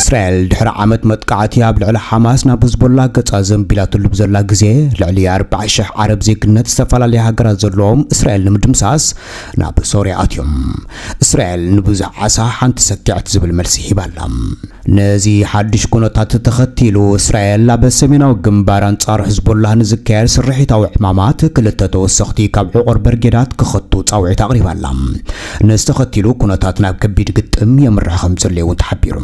እስራኤል ድሕሪ ዓመት መጥቃዕቲ ኣብ ልዕሊ ሓማስ ናብ ህዝቦላ ገጻ ዘንቢላትሉ ብዘላ ግዜ፣ ልዕሊ ኣርባዓ ሽሕ ዓረብ ዜግነት ዝተፈላለያ ሃገራት ዘለዎም እስራኤል ንምድምሳስ ናብ ሶርያ ኣትዮም። እስራኤል ንብዙሕ ዓሳ ሓንቲ ሰኪዐት ዝብል መልሲ ሂባላ። ነዚ ሓድሽ ኩነታት ተኸቲሉ፣ እስራኤል ኣብ ሰሜናዊ ግንባር ኣንጻር ህዝቦላህ ንዝካየድ ስርሒታዊ ዕማማት ክልተ ተወሰኽቲ ካብ ዕቑር በርጌዳት ክኸቱ ጻውዒት ኣቕሪባላ። ነዚ ተኸቲሉ ኩነታት ናብ ከቢድ ግጥም የምርሕ ከም ዘሎ እውን ተሓቢሩ።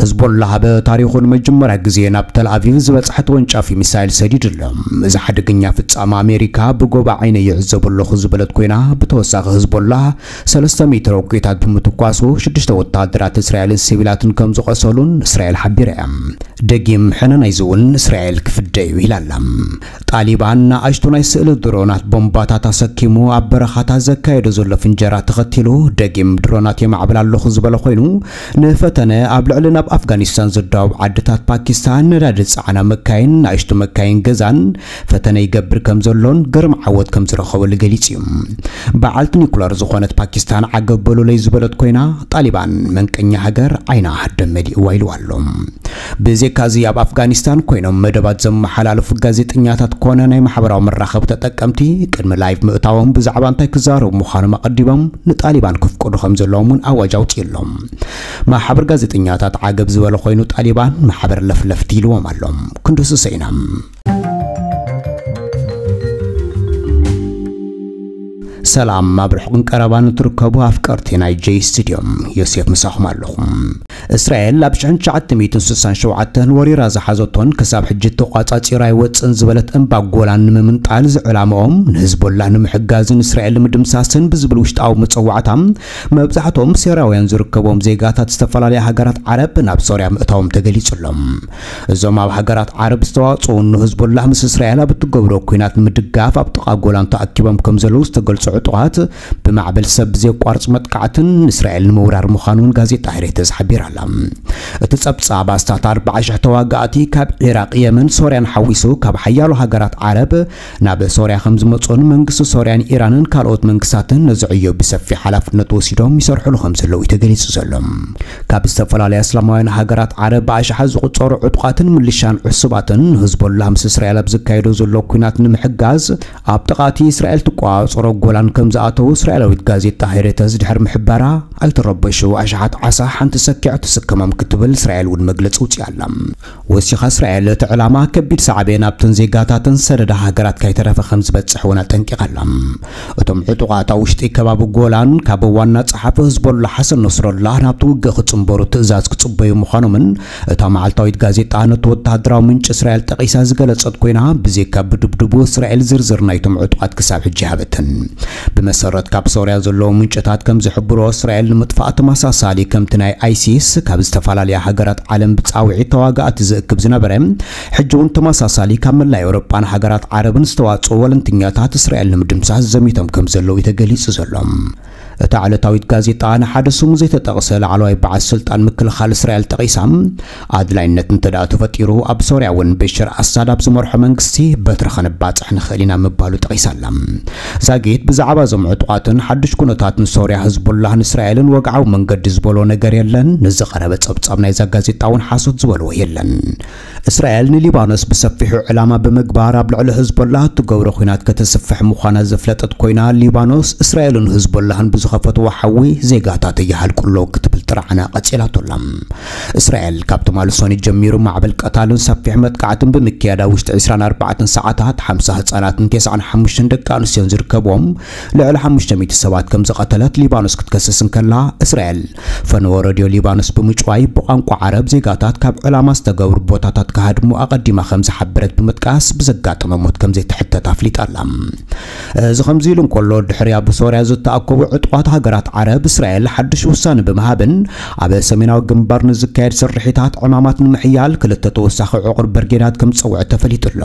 ህዝቦላህ ኣብ ታሪኹ ንመጀመርያ ግዜ ናብ ተል ኣቪቭ ዝበጽሐ ተወንጫፊ ሚሳይል ሰዲዱ ኣሎ። እዚ ሓደገኛ ፍጻመ ኣሜሪካ ብጎባ ዓይነ ይዕዘቦ ኣለኹ ዝበለት ኮይና፣ ብተወሳኺ ህዝቦላህ ሰለስተ ሚእቲ ሮኬታት ብምትኳሱ ሽዱሽተ ወታደራት እስራኤልን ሲቪላትን ከም ዝቖሰሉን እስራኤል ሓቢራ እያ። ደጊም ሕነ ናይዚ እውን እስራኤል ክፍደ እዩ ኢላ ኣላ። ጣሊባን ንኣሽቱ ናይ ስእሊ ድሮናት ቦምባታት ኣሰኪሙ ኣብ በረኻታት ዘካየዶ ዘሎ ፍንጀራ ተኸቲሉ፣ ደጊም ድሮናት የማዕብል ኣለኹ ዝበለ ኮይኑ፣ ንፈተነ ኣብ ልዕሊ ናብ ኣፍጋኒስታን ዝዳወብ ዓድታት ፓኪስታን ነዳዲ ዝጸዓና መካይን፣ ንኣሽቱ መካይን ገዛን ፈተነ ይገብር ከም ዘሎን ግርም ዓወት ከም ዝረኸበሉ ገሊጹ እዩ። በዓልቲ ኒኩለር ዝኾነት ፓኪስታን ዓገብ በሉለይ ዝበለት ኮይና፣ ጣሊባን መንቀኛ ሃገር ዓይና ደም መሊእዋ ኢልዋ ኣሎ። ብዘይካዚ ኣብ ኣፍጋኒስታን ኮይኖም መደባት ዘመሓላልፉ ጋዜጠኛታት ኮነ ናይ ማሕበራዊ መራኸቢ ተጠቀምቲ ቅድሚ ላይቭ ምእታዎም ብዛዕባ እንታይ ክዛረቡ ምዃኖም ኣቐዲሞም ንጣሊባን ከፍቅዱ ከም ዘለዎም እውን ኣዋጅ ኣውፂኡ ኣሎ። ማሕበር ጋዜጠኛታት ዓገብ ዝበለ ኮይኑ ጣሊባን ማሕበር ለፍለፍቲ ኢልዎም ኣሎ። ክንድሱ ሰኢና። ሰላም፣ ኣብ ርሑቕን ቀረባን እትርከቡ ኣፍቀርቲ ናይ ጀይ ስቱድዮ፣ ዮሴፍ ምሳኹም ኣለኹ። እስራኤል ኣብ ሽሕን ትሽዓተ ሚእትን ስሳን ሸውዓተን ወሪራ ዝሓዘቶን ክሳብ ሕጂ ተቋጻጺራ ኣይወጽእን ዝበለት እምባ ጎላን ንምምንጣል ዝዕላምኦም ንህዝቦላ ንምሕጋዝን እስራኤል ንምድምሳስን ብዝብል ውሽጣዊ መጸዋዕታ፣ መብዛሕትኦም ሶርያውያን ዝርከቦም ዜጋታት ዝተፈላለያ ሃገራት ዓረብ ናብ ሶርያ ምእታዎም ተገሊጹ ኣሎ። እዞም ኣብ ሃገራት ዓረብ ዝተዋጽኡ ንህዝቦላህ ምስ እስራኤል ኣብ እትገብሮ ኲናት ንምድጋፍ ኣብ ጥቓ ጎላን ተኣኪቦም ከም ዘለዉ ዝተገልጹ ዕጡቓት፣ ብማዕበል ሰብ ብዘየቋርጽ መጥቃዕትን እስራኤል ንምውራር ምዃኑን ጋዜጣ ሄሬተዝ ሓቢራ ኣላ። እቲ ጸብጻብ ኣስታት ኣርባዓ ሽሕ ተዋጋእቲ ካብ ዒራቕ፣ የመን፣ ሶርያን ሓዊሱ ካብ ሓያሎ ሃገራት ዓረብ ናብ ሶርያ ከም ዝመጹን መንግስቲ ሶርያን ኢራንን ካልኦት መንግስታትን ነዚ ዕዮ ብሰፊሕ ሓላፍነት ወሲዶም ይሰርሕሉ ከም ዘለዉ እዩ ተገሊጹ ዘሎ። ካብ ዝተፈላለያ እስላማውያን ሃገራት ዓረብ ብኣሽሓት ዝቑጸሩ ዕጡቓትን ምልሻን ዕሱባትን ንህዝቦላህ ምስ እስራኤል ኣብ ዝካየዶ ዘሎ ኲናት ንምሕጋዝ ኣብ ጥቓ እቲ እስራኤል ትቆጻጸሮ ጎላን ከም ዝኣተዉ እስራኤላዊት ጋዜጣ ሄሬተዝ ድሕሪ ምሕባራ፣ ኣይትረበሹ፣ ኣሽሓት ዓሳ ሓንቲ ሰኪዕ ትስከሞም ክትብል እስራኤል እውን መግለጺ ኣውጺኣ ኣላ። ወሲኻ እስራኤል እቲ ዕላማ ከቢድ ሳዕቤን ኣብተን ዜጋታተን ሰደዳ ሃገራት ከይተረፈ ከም ዝበጽሕ እውን ኣጠንቂቓ ኣላ። እቶም ዕጡቓት ኣብ ውሽጢ ከባቢ ጎላን ካብ ዋና ጸሓፊ ህዝቦላ ሓሰን ነስረላ ናብቲ ውግእ ክጽንበሩ ትእዛዝ ክጽበዩ ምዃኖምን እታ መዓልታዊት ጋዜጣ ነቲ ወተሃደራዊ ምንጪ እስራኤል ጠቒሳ ዝገለጸት ኮይና፣ ብዘይካ ብድብድቡ እስራኤል ዝርዝር ናይቶም ዕጡቓት ክሳብ ሕጂ ሃበትን። ብመሰረት ካብ ሶርያ ዘለዉ ምንጭታት ከም ዝሕብሮ፣ እስራኤል ንምጥፋእ ተመሳሳሊ ከምቲ ናይ ኣይሲስ ካብ ዝተፈላለያ ሃገራት ዓለም ብጻውዒት ተዋጋእቲ ዝእክብ ዝነበረ፣ ሕጂ እውን ተመሳሳሊ ካብ መላእ ኤውሮጳን ሃገራት ዓረብን ዝተዋጽኡ ወለንትኛታት እስራኤል ንምድምሳስ ዘሚቶም ከም ዘለዉ እዩ ተገሊጹ ዘሎ። እታ ዕለታዊት ጋዜጣ ንሓደ ስሙ ዘይተጠቕሰ ላዕለዋይ በዓል ስልጣን ምክልኻል እስራኤል ጠቒሳ፣ ኣድላይነት እንተ ደኣ ተፈጢሩ፣ ኣብ ሶርያ እውን በሽር ኣሳድ ኣብ ዝመርሖ መንግስቲ በትሪ ከነባጽሕ ንኽእል ኢና ምባሉ ጠቒሳ ኣላ። ዛጊት ብዛዕባ እዞም ዕጡቓትን ሓድሽ ኩነታትን ሶርያ፣ ህዝቡላህን እስራኤልን ወግዓዊ መንገዲ ዝበሎ ነገር የለን። ንዝቐረበ ጸብጻብ ናይዛ ጋዜጣ እውን ሓሶት ዝበልዎ የለን። እስራኤል ንሊባኖስ ብሰፊሑ ዕላማ ብምግባር ኣብ ልዕሊ ህዝቦላህ እትገብሮ ኲናት ከተስፍሕ ምዃና ዘፍለጠት ኮይና፣ ሊባኖስ እስራኤልን ህዝቦላህን ብዝኸፈትዎ ሓዊ ዜጋታት ይሃልቁ ኣለዉ ክትብል ጥርዓና ቀጺላቶ ኣላ። እስራኤል ካብ ትማሊ ሰኑይ ጀሚሩ ማዕበል ቀታልን ሰፊሕ መጥቃዕትን ብምክያድ ኣብ ውሽጢ ዕስራን ኣርባዕተን ሰዓታት ሓምሳ ህጻናትን ተስዓን ሓሙሽተን ደቂ ኣንስትዮን ዝርከብዎም ልዕሊ ሓሙሽተ ሚእቲ ሰባት ከም ዝቐተለት ሊባኖስ ክትከስስ እንከላ፣ እስራኤል ፈነወ ረድዮ ሊባኖስ ብምጭዋይ ብቋንቋ ዓረብ ዜጋታት ካብ ዕላማ ዝተገብሩ ቦታታት ክሃድሙ ኣቐዲማ ከም ዝሓበረት ብምጥቃስ ብዘጋጠመ ሞት ከም ዘይትሕተት ኣፍሊጣ ኣላ። እዚ ከምዚ ኢሉ እንከሎ፣ ድሕሪ ኣብ ሶርያ ዝተኣከቡ ዕጡቓት ሃገራት ዓረብ፣ እስራኤል ሓድሽ ውሳነ ብምሃብን ኣብ ሰሜናዊ ግንባር ንዝካየድ ስርሒታት ዕማማት ንምሕያል ክልተ ተወሳኺ ዕቑር ብርጌዳት ከም ዝጸውዐ ተፈሊጡ ኣሎ።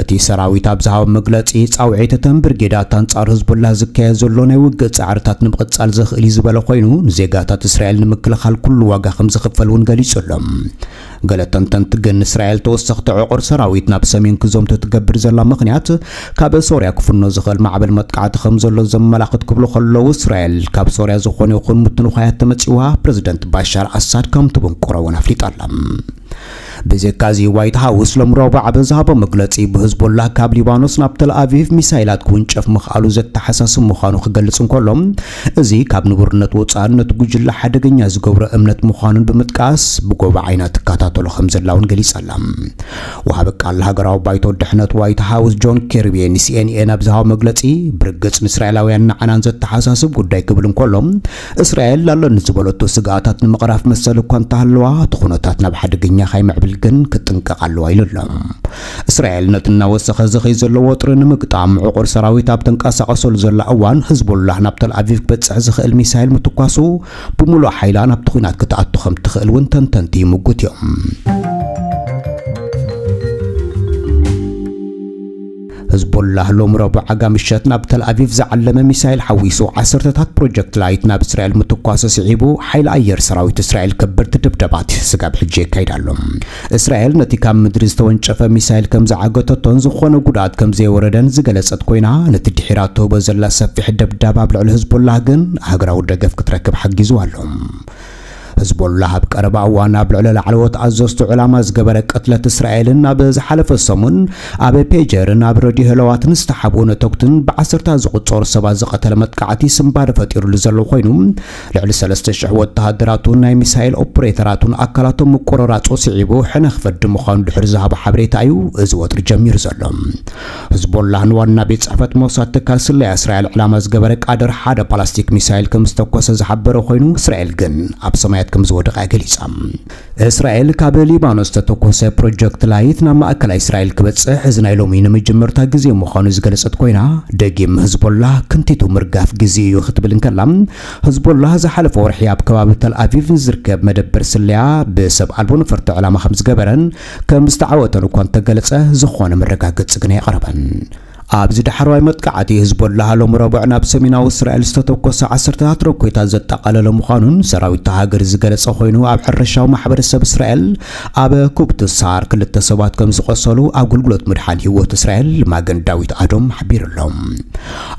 እቲ ሰራዊት ኣብ ዝሃቦ መግለጺ፣ ጻውዒት እተን ብርጌዳት ኣንጻር ህዝቡላህ ዝካየድ ዘሎ ናይ ውግእ ጻዕርታት ንምቕጻል ዘኽእል እዩ ዝበለ ኮይኑ፣ ንዜጋታት እስራኤል ንምክልኻል ኩሉ ዋጋ ከም ዝኽፈል እውን ገሊጹ ኣሎ። ገለ ተንተንቲ ግን፣ እስራኤል ተወሰኽቲ ዕቑር ሰራዊት ናብ ሰሜን ክዘምቱ ትገብር ዘላ ምኽንያት፣ ካብ ሶርያ ክፍኖ ዝኽእል ማዕበል መጥቃዕቲ ከም ዘሎ ዘመላኽት ክብሉ ከለዉ፣ እስራኤል ካብ ሶርያ ዝኾነ ይኹን ምትንዃያት ተመጺዋ ፕረዚደንት ባሻር ኣሳድ ከም ትብንቁሮ እውን ኣፍሊጣ ኣላ። ብዘካዚ ዋይት ሃውስ ሎም ረቡዕ ኣብ ዝሃቦ መግለጺ፣ ብህዝቦላህ ካብ ሊባኖስ ናብ ተል ኣቪቭ ሚሳይላት ክውንጨፍ ምኽኣሉ ዘተሓሳስብ ምዃኑ ክገልጽ እንከሎ፣ እዚ ካብ ንቡርነት ወጻእን ነቲ ጉጅለ ሓደገኛ ዝገብሮ እምነት ምዃኑን ብምጥቃስ፣ ብጎባ ዓይና ትከታተሎ ከም ዘላ እውን ገሊጻ ኣላ። ወሃቢ ቃል ሃገራዊ ባይቶ ድሕነት ዋይት ሃውስ ጆን ኬርቢ ንሲኤንኤን ኣብ ዝሃቦ መግለጺ፣ ብርግጽ ንእስራኤላውያን ንዓናን ዘተሓሳስብ ጉዳይ ክብል እንከሎ፣ እስራኤል ኣለኒ ዝበለቶ ስግኣታት ንምቕራፍ መሰል እኳ እንተሃለዋ፣ እቲ ኩነታት ናብ ሓደገኛ ካይምዕብል ግን ክትጥንቀቕ ኣለዋ ኢሉ ኣሎ። እስራኤል ነቲ እናወሰኸ ዝኸይ ዘሎ ወጥሪ ንምግጣም፣ ዕቑር ሰራዊት ኣብ ተንቀሳቐሰሉ ዘላ እዋን፣ ህዝቦላህ ናብ ተል ኣቪቭ ክበጽሕ ዝኽእል ሚሳይል ምትኳሱ፣ ብምሉእ ሓይላ ናብቲ ኲናት ክትኣቱ ከም ትኽእል እውን ተንተንቲ ይምጉት እዮም። ህዝቦላህ ሎም ረቡዕ ኣጋ ምሸት ናብ ተል ኣቪቭ ዝዓለመ ሚሳይል ሓዊሱ ዓሰርተታት ፕሮጀክት ላይት ናብ እስራኤል ምትኳሱ ስዒቡ፣ ሓይሊ ኣየር ሰራዊት እስራኤል ከበድቲ ድብደባት ስጋብ ሕጂ የካይድ ኣሎ። እስራኤል ነቲ ካብ ምድሪ ዝተወንጨፈ ሚሳይል ከም ዝዓገተቶን ዝኾነ ጉድኣት ከም ዘይወረደን ዝገለጸት ኮይና፣ ነቲ ድሒራ ትህቦ ዘላ ሰፊሕ ደብዳብ ኣብ ልዕሊ ህዝቦላህ ግን ሃገራዊ ደገፍ ክትረክብ ሓጊዙ ኣሎ። ህዝቦላህ ኣብ ቀረባ እዋን ኣብ ልዕሊ ላዕለዎት ኣዘዝቱ ዕላማ ዝገበረ ቅትለት እስራኤልን ኣብ ዝሓለፈ ሰሙን ኣብ ፔጀርን ኣብ ረድዮ ህለዋትን ዝተሓብኡ ነተጉትን ብዓሰርታት ዝቑጸሩ ሰባት ዝቐተለ መጥቃዕቲ ስንባደ ፈጢሩሉ ዘሎ ኮይኑ፣ ልዕሊ ሰለስተ ሽሕ ወተሃደራቱን ናይ ሚሳይል ኦፕሬተራቱን ኣካላቶም ምቁርራጹ ስዒቡ ሕነ ክፈዲ ምዃኑ ድሕሪ ዝሃቦ ሓበሬታ እዩ እዚ ወጥሪ ጀሚሩ ዘሎ። ህዝቦላህ ንዋና ቤት ጽሕፈት ሞሳድ ትካል ስለያ እስራኤል ዕላማ ዝገበረ ቃደር ሓደ ፓላስቲክ ሚሳይል ከም ዝተኮሰ ዝሓበረ ኮይኑ፣ እስራኤል ግን ኣብ ሰማያት ከም ዝወደቐ ገሊጻ። እስራኤል ካብ ሊባኖስ ዝተተኮሰ ፕሮጀክት ላይት ናብ ማእከላይ እስራኤል ክበጽሕ እዚ ናይ ሎሚ ንመጀመርታ ግዜ ምዃኑ ዝገለጸት ኮይና፣ ደጊም ህዝቦላህ ክንቲቱ ምርጋፍ ግዜ እዩ ክትብል እንከላ፣ ህዝቦላህ ዝሓለፈ ወርሒ ኣብ ከባቢ ተል ኣቪቭ ንዝርከብ መደበር ስለያ ብሰብ ኣልቦ ነፈርቲ ዕላማ ከም ዝገበረን ከም ዝተዓወተን እኳ እንተገለጸ፣ ዝኾነ መረጋገጺ ግን ኣየቕረበን። ኣብዚ ዳሕረዋይ መጥቃዕቲ ህዝቦላህ ሎም ረቡዕ ናብ ሰሜናዊ እስራኤል ዝተተኮሰ ዓሰርተታት ሮኬታት ዘጠቓለለ ምዃኑን ሰራዊት እታ ሃገር ዝገለጸ ኮይኑ፣ ኣብ ሕርሻዊ ማሕበረሰብ እስራኤል ኣብ ኩብትሳር ክልተ ሰባት ከም ዝቖሰሉ ኣገልግሎት ምድሓን ህይወት እስራኤል ማገን ዳዊት ኣዶም ሓቢሩ ኣሎ።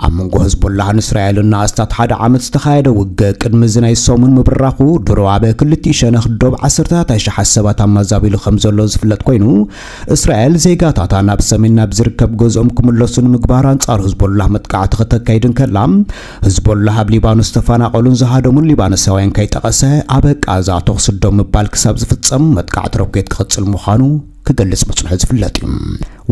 ኣብ መንጎ ህዝቦላህን እስራኤልን ንኣስታት ሓደ ዓመት ዝተኻየደ ውግእ ቅድሚ እዚ ናይ ሰሙን ምብራኹ ድሮ ኣብ ክልቲኡ ሸነኽ ዶብ ዓሰርተታት ኣሽሓት ሰባት ኣማዛቢሉ ከም ዘሎ ዝፍለጥ ኮይኑ፣ እስራኤል ዜጋታታ ናብ ሰሜን ናብ ዝርከብ ገዝኦም ክምለሱ ንምግባር ኣንጻር ህዝቦላህ መጥቃዕቲ ከተካይድ እንከላ፣ ህዝቦላህ ኣብ ሊባኖስ ዝተፈናቐሉን ዝሃደሙን ሊባኖሳውያን ከይጠቐሰ ኣብ ቃዛ ተኹሲ ደው ምባል ክሳብ ዝፍጸም መጥቃዕቲ ሮኬት ክቕጽል ምዃኑ ክገልጽ ምጽንሑ ዝፍለጥ እዩ።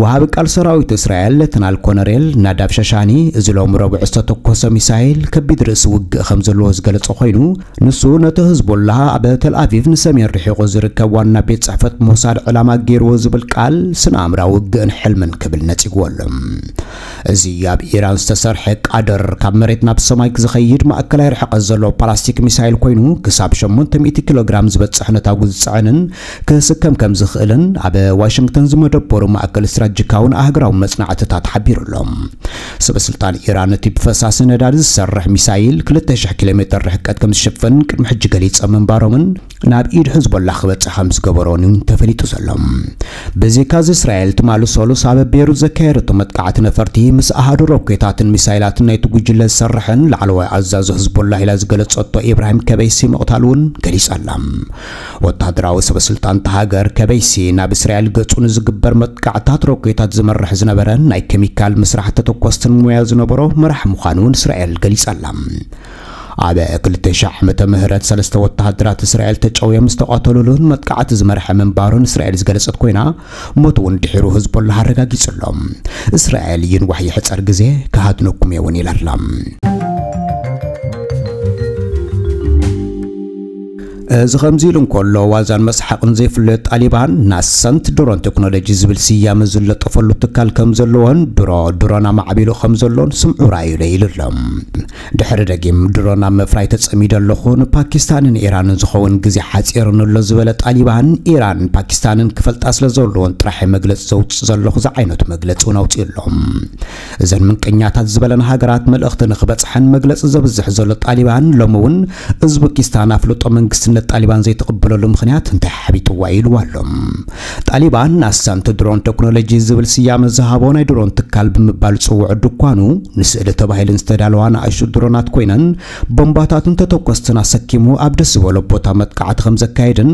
ወሃቢ ቃል ሰራዊት እስራኤል ሌተናል ኮነሬል ናዳብ ሸሻኒ፣ እዚ ሎም ረቡዕ ዝተተኮሰ ሚሳይል ከቢድ ርእሲ ውግእ ከም ዘለዎ ዝገለጸ ኮይኑ፣ ንሱ ነቲ ህዝቦላህ ኣብ ተል ኣቪቭ ንሰሜን ርሒቑ ዝርከብ ዋና ቤት ጽሕፈት ሞሳድ ዕላማ ገይርዎ ዝብል ቃል ስነ ኣእምራዊ ውግእን ሕልምን ክብል ነጺግዎ ኣሎ። እዚ ኣብ ኢራን ዝተሰርሐ ቃደር ካብ መሬት ናብ ሰማይ ዝኸይድ ማእከላይ ርሕቀት ዘለዎ ፓላስቲክ ሚሳይል ኮይኑ፣ ክሳብ ሸሞንተ ሚእቲ ኪሎ ግራም ዝበጽሕ ነታጉ ዝጽዕንን ክስከም ከም ዝኽእልን ኣብ ዋሽንግተን ዝመደበሩ ማእከል ስትራቴጂካውን ኣህጉራውን መጽናዕትታት ሓቢሩ ኣሎ። ሰበ ስልጣን ኢራን እቲ ብፈሳሲ ነዳዲ ዝሰርሕ ሚሳይል ክልተ ሽሕ ኪሎ ሜተር ርሕቀት ከም ዝሽፍን ቅድሚ ሕጂ ገሊጸ ምንባሮምን ናብ ኢድ ሕዝቦላ ክበጽሕ ከም ዝገበሮን እዩ ተፈሊጡ ዘሎ። ብዘይካዚ እስራኤል ትማሊ ሰሉስ ኣብ ቤሩት ዘካየደቶ መጥቃዕቲ ነፈርቲ ምስ ኣሃዱ ሮኬታትን ሚሳይላትን ናይቲ ጉጅለ ዝሰርሕን ላዕለዋይ ኣዛዚ ሕዝቦላ ኢላ ዝገለጸቶ ኢብራሂም ከበይሲ ምቕታሉ እውን ገሊጻ ኣላ። ወተሃደራዊ ሰበ ስልጣን እታ ሃገር ከበይሲ ናብ እስራኤል ገጹ ንዝግበር መጥቃዕታት ሮኬታት ዝመርሕ ዝነበረ ናይ ኬሚካል ምስራሕ ተተኮስትን ሞያ ዝነበሮ መራሕ ምዃኑ እውን እስራኤል ገሊጻ ኣላ። ኣብ ክልተ ሽሕ ዓመተ ምህረት ሰለስተ ወተሃደራት እስራኤል ተጨውዮም ዝተቐተሉሉን መጥቃዕቲ ዝመርሐ ምንባሩን እስራኤል ዝገለጸት ኮይና፣ ሞት እውን ድሒሩ ህዝቦላህ ኣረጋጊጹ ኣሎ። እስራኤል ይንዋሕ ይሕጸር ግዜ ክሃድነኩም እየ እውን ኢላ ኣላ። እዚ ከምዚ ኢሉ እንከሎ፣ ዋዛን መስሓቕን ዘይፍለዮ ጣሊባን ናሰንት ድሮን ቴክኖሎጂ ዝብል ስያመ ዝለጠፈሉ ትካል ከም ዘለዎን ድሮ ድሮን ኣማዕቢሉ ከም ዘሎን ስምዑ ራእዩለ ኢሉ ኣሎ። ድሕሪ ደጊም ድሮን ኣብ ምፍራይ ተጸሚደ ኣለኹ፣ ንፓኪስታንን ኢራንን ዝኸውን ግዜ ሓጺርኒ ኣሎ ዝበለ ጣሊባን፣ ኢራን ፓኪስታንን ክፈልጣ ስለ ዘለዎን ጥራሕ መግለጺ ዘውጽእ ዘለኹ ዝዓይነቱ መግለጺ እውን ኣውጺኡ ኣሎ። እዘን ምንቀኛታት ዝበለን ሃገራት መልእኽቲ ንኽበጽሐን መግለጺ ዘብዝሕ ዘሎ ጣሊባን፣ ሎሚ እውን ኡዝበኪስታን ኣፍልጦ መንግስትነት ጣሊባን ዘይትቕበለሉ ምኽንያት እንታይ ሓቢጥዋ ኢልዋ ኣሎ። ጣሊባን ኣሳንቲ ድሮን ቴክኖሎጂ ዝብል ስያመ ዝሃቦ ናይ ድሮን ትካል ብምባል ዝጽውዖ ድኳኑ፣ ንስእሊ ተባሂለን ዝተዳለዋ ንኣሽቱ ድሮናት ኮይነን፣ ቦምባታትን ተተኮስትን ኣሰኪሙ ኣብ ደስ ዝበሎ ቦታ መጥቃዕቲ ከም ዘካየድን፣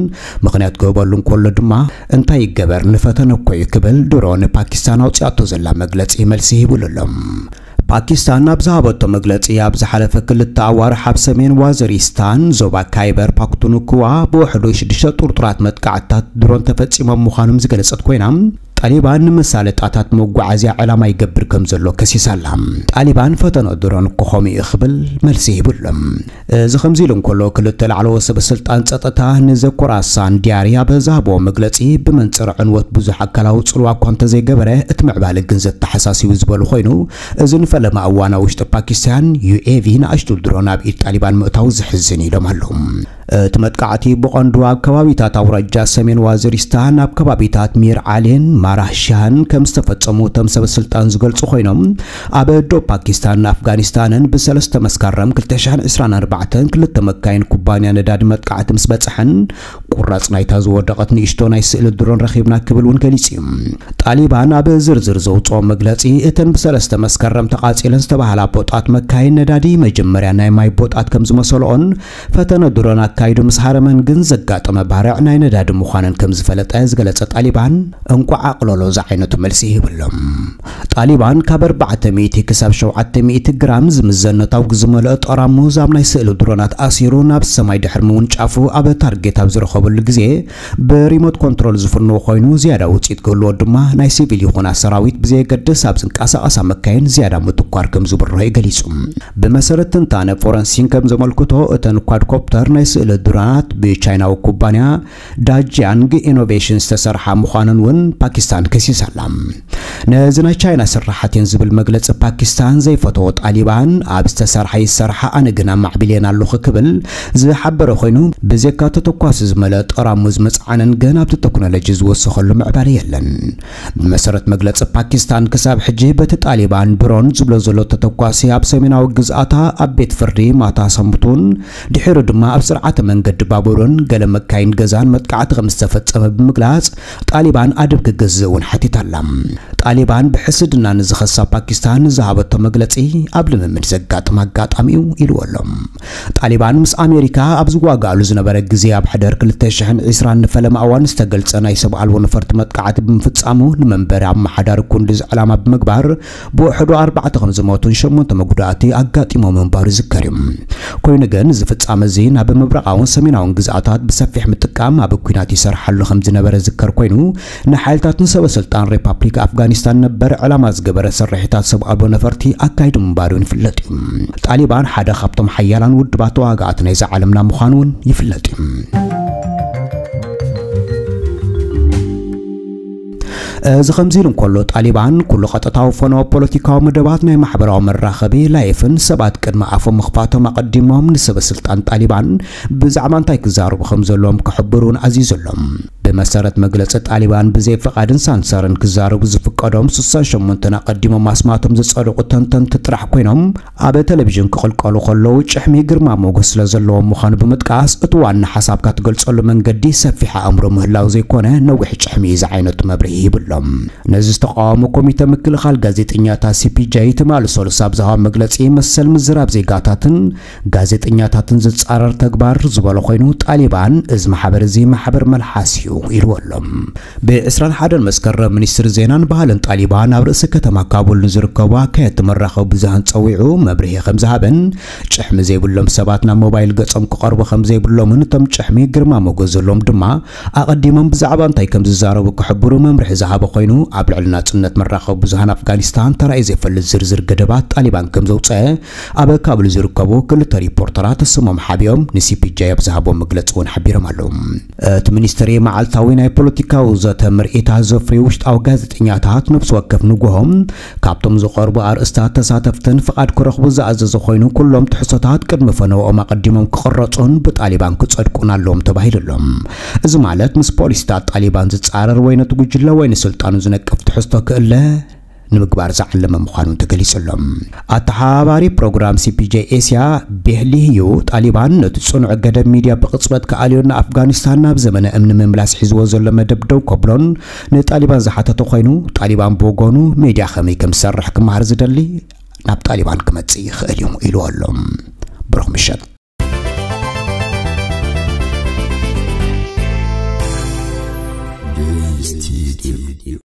ምኽንያት ክህበሉ እንከሎ ድማ፣ እንታይ ይገበር፣ ንፈተነ እኮ እዩ ክብል ድሮ ንፓኪስታን ኣውፂኣቶ ዘላ መግለፂ መልሲ ሂቡሉ ኣሎ። ፓኪስታን ኣብ ዝሃበቶ መግለፂ፣ ኣብ ዝሓለፈ ክልተ ኣዋርሕ ኣብ ሰሜን ዋዚሪስታን ዞባ ካይበር ፓክቱንክዋ ብውሕዱ ሽዱሽተ ጥርጡራት መጥቃዕትታት ድሮን ተፈፂሞም ምዃኖም ዝገለፀት ኮይና፣ ጣሊባን ንመሳለጣታት መጓዓዝያ ዕላማ ይገብር ከም ዘሎ ከሲሳ ኣላ። ጣሊባን ፈተኖ ድሮን እኮ ከምኡ እዩ ክብል መልሲ ሂቡ ኣሎ። እዚ ከምዚ ኢሉ እንከሎ፣ ክልተ ላዕለዎት ሰበ ስልጣን ጸጥታ ንዘኮራሳን ዲያሪ ኣብ ዝሃብዎ መግለጺ፣ ብመንጽር ዕንወት ብዙሕ ኣካላዊ ጽልዋ እኳ እንተዘይገበረ፣ እቲ ምዕባለ ግን ዘተሓሳስብ እዩ ዝበሉ ኮይኑ፣ እዚ ንፈለማ እዋን ኣብ ውሽጢ ፓኪስታን ዩ ኤ ቪ ንኣሽቱ ድሮን ኣብ ኢድ ጣሊባን ምእታው ዘሕዝን ኢሎም ኣለዉ። እቲ መጥቃዕቲ ብቐንዱ ኣብ ከባቢታት ኣውራጃ ሰሜን ዋዚሪስታን፣ ኣብ ከባቢታት ሚር ዓሊን ማራህሻን ከም ዝተፈጸሙ እቶም ሰበ ስልጣን ዝገልጹ ኮይኖም፣ ኣብ ዶብ ፓኪስታንን ኣፍጋኒስታንን ብሰለስተ መስከረም ክልተ ሽሕን ዕስራን ኣርባዕተን ክልተ መካይን ኩባንያ ነዳዲ መጥቃዕቲ ምስ በጽሐን፣ ቁራጽ ናይታ ዝወደቐት ንእሽቶ ናይ ስእሊ ድሮን ረኺብና ክብል እውን ገሊጹ እዩ። ጣሊባን ኣብ ዝርዝር ዘውጽኦ መግለጺ፣ እተን ብሰለስተ መስከረም ተቓጺለን ዝተባህላ ቦጣት መካይን ነዳዲ መጀመርያ ናይ ማይ ቦጣት ከም ዝመሰልኦን፣ ፈተነ ድሮን ኣካይዱ ምስ ሃረመን ግን ዘጋጠመ ባርዕ ናይ ነዳዲ ምዃነን ከም ዝፈለጠ ዝገለጸ ጣሊባን፣ እንቋዕ ኣቕለሎ ዝዓይነቱ መልሲ ይህብሎም። ጣሊባን ካብ ኣርባዕተ ሚእቲ ክሳብ ሸውዓተ ሚእቲ ግራም ዝምዘን ነታጒ ዝመልኦ ጠራሙዝ ኣብ ናይ ስእሊ ድሮናት ኣሲሩ ናብ ሰማይ ድሕሪ ምውንጫፉ፣ ኣብ ታርጌት ኣብ ዝረኸበሉ ግዜ ብሪሞት ኮንትሮል ዝፍንዎ ኮይኑ፣ ዝያዳ ውጽኢት ክህልዎ ድማ ናይ ሲቪል ይኹና ሰራዊት ብዘየገድስ ኣብ ዝንቀሳቐሳ መካይን ዝያዳ ምትኳር ከም ዝብርሆ እዩ ገሊጹ። ብመሰረት ትንታነ ፎረንሲን ከም ዘመልክቶ፣ እተን ኳድኮፕተር ናይ ስእሊ ድሮናት ብቻይናዊ ኩባንያ ዳጂያንግ ኢኖቬሽን ዝተሰርሓ ምዃነን እውን ፓኪስታን ከሲሳ ኣላ። ነዚ ናይ ቻይና ስራሓት እየን ዝብል መግለጺ ፓኪስታን ዘይፈተዎ ጣሊባን፣ ኣብ ዝተሰርሓ ይሰርሓ፣ ኣነ ግን ኣማዕቢልየን ኣለኹ ክብል ዝሓበረ ኮይኑ፣ ብዘይካ ተተኳሲ ዝመልአ ጠራሙዝ ምጽዓነን ግን ኣብቲ ቴክኖሎጂ ዝወሰኸሉ ምዕባለ የለን። ብመሰረት መግለጺ ፓኪስታን፣ ክሳብ ሕጂ በቲ ጣሊባን ድሮን ዝብሎ ዘሎ ተተኳሲ ኣብ ሰሜናዊ ግዝኣታ ኣብ ቤት ፍርዲ ማታ ሰንብቱን ድሒሩ ድማ ኣብ ስርዓተ መንገዲ ባቡርን ገለ መካይን ገዛን መጥቃዕቲ ከም ዝተፈጸመ ብምግላጽ፣ ጣሊባን ኣደብ ክገዝእ እውን ሓቲታ ኣላ። ጣሊባን ብሕስድና ንዝኸሳ ፓኪስታን ዝሃበቶ መግለጺ ኣብ ልምምድ ዘጋጥም ኣጋጣሚ እዩ ኢልዎ ኣሎ። ጣሊባን ምስ ኣሜሪካ ኣብ ዝዋጋኣሉ ዝነበረ ግዜ፣ ኣብ ሕደር ክልተ ሽሕን ዕስራን ንፈለማ እዋን ዝተገልጸ ናይ ሰብ ኣልቦ ነፈርቲ መጥቃዕቲ ብምፍጻሙ፣ ንመንበሪ ኣመሓዳሪ ኩንዱዝ ዕላማ ብምግባር ብውሕዱ ኣርባዕተ ከም ዝሞቱን ሸሞንተ መጉዳእቲ ኣጋጢሞም ምንባሩ ይዝከር እዩ። ኮይኑ ግን፣ እዚ ፍጻመ እዚ ናብ ምብራቓውን ሰሜናውን ግዝኣታት ብሰፊሕ ምጥቃም ኣብ ኲናት ይሰርሓሉ ከም ዝነበረ ዝዝከር ኮይኑ፣ ንሓይልታትን ሰበ ስልጣን ሪፓብሊክ ኣፍጋኒስታን ነበር ዕላማ ዝገበረ ስርሒታት ሰብ ኣልቦ ነፈርቲ ኣካይዱ ምንባሩ ይፍለጥ እዩ። ጣሊባን ሓደ ካብቶም ሓያላን ውድባት ተዋጋእቲ ናይዛ ዓለምና ምዃኑ እውን ይፍለጥ እዩ። እዚ ከምዚ ኢሉ እንከሎ፣ ጣሊባን ኩሉ ቀጥታዊ ፈነወ ፖለቲካዊ መደባት ናይ ማሕበራዊ መራኸቢ ላይፍን ሰባት ቅድሚ ኣፎም ምኽፋቶም ኣቐዲሞም ንሰበ ስልጣን ጣሊባን ብዛዕባ እንታይ ክዛረቡ ከም ዘለዎም ክሕብሩ እውን ኣዚዙ ኣሎ። ብመሰረት መግለጺ ጣሊባን፣ ብዘይ ፍቓድን ሳንሰርን ክዛረቡ ዝፍቀዶም ስሳን ሸሞንተን ኣቐዲሞም ኣስማቶም ዝጸደቑ ተንተንቲ ጥራሕ ኮይኖም፣ ኣብ ቴሌቪዥን ክቕልቀሉ ከለዉ ጭሕሚ ግርማ ሞገስ ስለ ዘለዎም ምዃኑ ብምጥቃስ፣ እቲ ዋና ሓሳብካ ትገልጸሉ መንገዲ ሰፊሕ ኣእምሮ ምህላው ዘይኮነ፣ ነዊሕ ጭሕሚ እዩ ዝዓይነቱ መብርሂ ሂቡሎም። ነዚ ዝተቃወመ ኮሚተ ምክልኻል ጋዜጠኛታት ሲ ፒ ጄ ትማሊ ሰሉስ ኣብ ዝሃቦ መግለጺ፣ መሰል ምዝራብ ዜጋታትን ጋዜጠኛታትን ዝጻረር ተግባር ዝበሎ ኮይኑ፣ ጣሊባን እዚ ማሕበር እዚ ማሕበር መልሓስ እዩ ኢልዎ ኣሎ። ብ ዕስራን ሓደን መስከረም ሚኒስትሪ ዜናን ባህልን ጣሊባን ኣብ ርእሲ ከተማ ካቡል ንዝርከቡ ኣካየድቲ መራኸቢ ብዙሃን ጸዊዑ መብርሂ ከም ዝሃበን፣ ጭሕሚ ዘይብሎም ሰባት ናብ ሞባይል ገጾም ክቐርቡ ከም ዘይብሎምን እቶም ጭሕሚ ግርማ ሞገስ ዘለዎም ድማ ኣቐዲሞም ብዛዕባ እንታይ ከም ዝዛረቡ ክሕብሩ መምርሒ ዝሃበ ኮይኑ፣ ኣብ ልዕሊ ናጽነት መራኸቢ ብዙሃን ኣፍጋኒስታን ተራእዩ ዘይፈልጥ ዝርዝር ገደባት ጣሊባን ከም ዘውጸአ ኣብ ካቡል ዝርከቡ ክልተ ሪፖርተራት ስሞም ሓቢኦም ንሲ ፒ ጄ ኣብ ዝሃቦ መግለጺ እውን ሓቢሮም ኣለዉ። እቲ ሚኒስትሪ መዓልታዊ ናይ ፖለቲካዊ ዘተ ምርኢት ኣዘፍርዩ ውሽጣዊ ጋዜጠኛታት ነፍሲ ወከፍ ንግሆ ካብቶም ዝቐርቡ ኣርእስታት ተሳተፍትን ፍቓድ ክረኽቡ ዝኣዘዘ ኮይኑ፣ ኩሎም ትሕዝቶታት ቅድሚ ፈነወኦም ኣቐዲሞም ክቕረጹን ብጣሊባን ክጸድቁን ኣለዎም ተባሂሉ ኣሎ። እዚ ማለት ምስ ፖሊሲታት ጣሊባን ዝጻረር ወይ ነቲ ጉጅለ ወይ ንስልጣኑ ዝነቅፍ ትሕዝቶ ክእለ ንምግባር ዝዓለመ ምዃኑ ተገሊጹ ኣሎ። ኣተሓባባሪ ፕሮግራም C P J ኤስያ ቤህሊ ዩ፣ ጣሊባን ነቲ ጽኑዕ ገደብ ሚድያ ብቕጽበት ክኣልዮን ንኣፍጋኒስታን ናብ ዘመነ እምኒ ምምላስ ሒዝዎ ዘሎ መደብ ደው ከብሎን ንጣሊባን ዝሓተተ ኮይኑ፣ ጣሊባን ብወገኑ ሚድያ ከመይ ከም ዝሰርሕ ክመሃር ዝደሊ ናብ ጣሊባን ክመጽእ ይኽእል እዩ ኢሉ ኣሎ። ብሩኽ ምሸት።